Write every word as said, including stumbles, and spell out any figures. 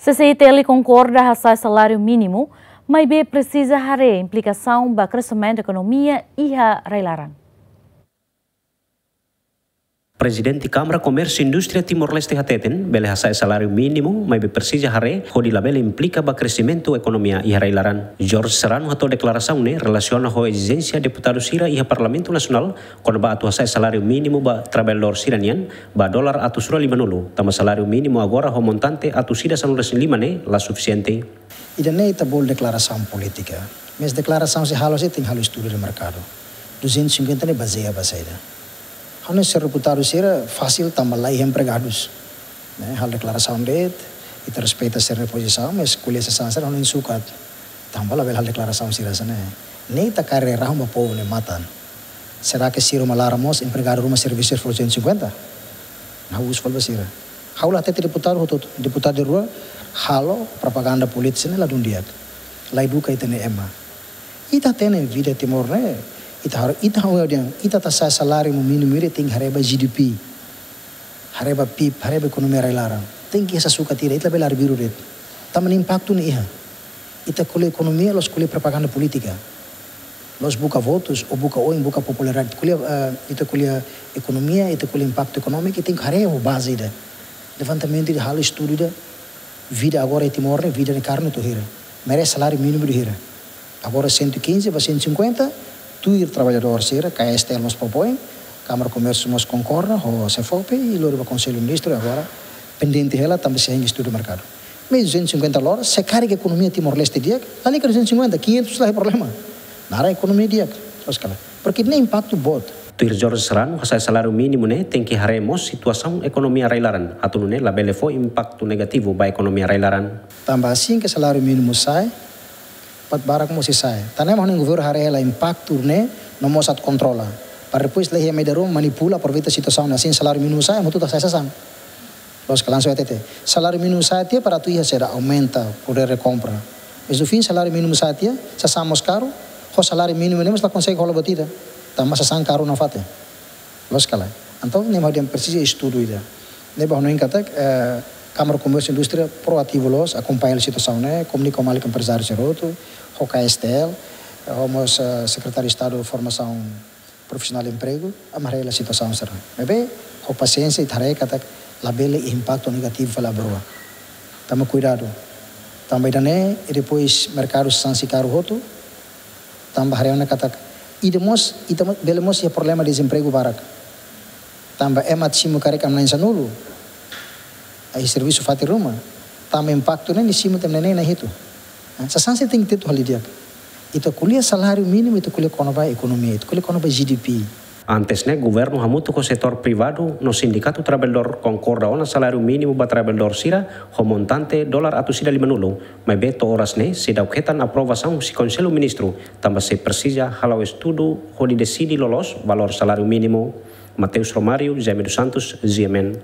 C C I T L konkorda hasa'e saláriu mínimu, maibé presiza haree implikasaun ba kresimentu ekonomia iha rai-laran. Prezidente Kámara Komérsiu Indústria Timor-Leste hateten, bele hasa'e saláriu mínimu, maibé presiza haree hodi labele implika ba kresimentu ekonomia iha rai-laran. Jorge Serrano hato'o deklarasaun ne'e relasiona ho ezijénsia deputadu sira iha Parlamentu Nasionál kona-ba atu hasa'e saláriu mínimu ba traballadór sira-nian ba dolar atus rua limanulu, tanba saláriu mínimu agora ho montante atus ida sanulu-resin-lima ne'e la sufisiente. Ida-ne'e ita bolu deklarasaun polítika. Mas deklarasaun sei halo, sei tenke halo estudu de merkadu. Duzentus e cinquenta ne'e bazeia ba saida? Ha'u-nia señór deputadu sira fasil tanba la iha empregadus. Ne'e, halo deklarasaun de'it, ita respeita sira-nia pozisaun, mas ko'alia sasán sira ha'u-nia sukat. Tanba labele halo deklarasaun sira hanesan ne'e. Ne'e ita kaer rahun ba povu nia matan. Será que sira uma laran mós empregadu ruma servisu fó duzentus e cinquenta? Ha'u husu fali ba sira. Ha'u la hatete deputadu hotu, deputadu rua halo propaganda polítika ne'e ladún di'ak. La eduka ita-nia ema. Ita hatene vida Timor ne'e, ita haree, ita ha'u dehan, ita atu hasa'e saláriu mínimu ida tenke haree ba G D P. Haree ba P I B, haree ba ekonomia rai-laran. Tenke hasoru katak ita labele arbiru de'it. Tanba nia impaktu ne'e iha. Ita ko'alia ekonomia, la'ós ko'alia propaganda polítika. La'ós buka votus, ou buka oin, buka popularidade. Ko'alia, eh, ita ko'alia ekonomia, ita ko'alia impaktu ekonómiku, ita tenke haree ho baze ida. Levantamentu ida, halo estudu ida, vida agora iha Timor ne'e, vida nia karne to'o hira. Merese saláriu mínimu to'o hira. Agora cento e quinze ba cento e cinquenta, tuir traballadór sira, K S T L mós propoin, Kámara Komérsiu mós konkorda, ho SEFOPE, i lori ba Konsellu Ministru, agora pendente hela, tanba sei hein estudu merkadu. Mas duzentus e cinquenta loro, se karik ekonomia Timor-Leste di'ak, lalika duzentus e cinquenta, quinhentos la iha problema. Naran ekonomia di'ak, loos ka lae. Porque nia impaktu boot. Tuir Jorge Serrano, hasa'e saláriu mínimu ne'e tenke haree mós situasaun ekonomia rai-laran, atu nune'e labele fó impaktu negativu ba ekonomia rai-laran. Tanba asin ke saláriu mínimu sa'e, buat barak mós sei sa'e. Tan ne'e mak ha'u-nia governu haree hela impaktu ne'e, no mós atu kontrola. Para depois laiha ema ida ruma manipula, aproveita situasaun ne'e, asin saláriu mínimu sa'e, ema hotu atu hasa'e sasán. Loos ka lae, langsung hatete. Saláriu mínimu sa'e tiha para atu iha saida, aumenta poder de compra. Mas no fim saláriu mínimu sa'e tiha, sasán mós karu, ho saláriu mínimu ne'e mós la konsege hola buat ida. Tanba sasán karu nafatin. Loos ka lae. Entaun, ne'e mak ha'u dehan presiza estudu ida. Ne'ebé ha'u hanoin katak, eh, Kámara Komérsiu Indústria proativu loos, akompaña situasaun ne'e, komunika ho maluk emprezáriu sira hotu, ho K S T L, eh, ho mós, eh, Sekretáriu Estadu Formasaun Profisionál Empregu, ami haree hela situasaun sira. Maibé, ho pasiénsia, ita haree katak labele iha impaktu negativu fali ba rua. Tama kuidadu. Tanba ida-ne'e, i depois merkadu sasán sei karu hotu, tanba haree ona katak, ida mós, ita mo-, bele mós iha problema dezempregu barak. Tanba ema atu simu karik ema na'in sanulu. Ai servisu fatin ruma. Tanba impaktu ne'e nia simu tan ne'e na'in hitu. Sasán sei tenke tetu halo di'ak. Ita ko'alia saláriu mínimu, ita ko'alia kona-ba ekonomia, ita ko'alia kona-ba G D P. Antes ne'e, governu hamutuk ho setór privadu no sindikatu traballadór konkorda ona saláriu mínimu ba traballadór sira ho montante dolar atus ida limanulu. Maibé to'o oras ne'e seidauk hetan aprovasaun husi Konsellu Ministru, tanba sei presiza hala'o estudu hodi deside loloos valór saláriu mínimu. Mateus Romário, Jaime dos Santos, G M N.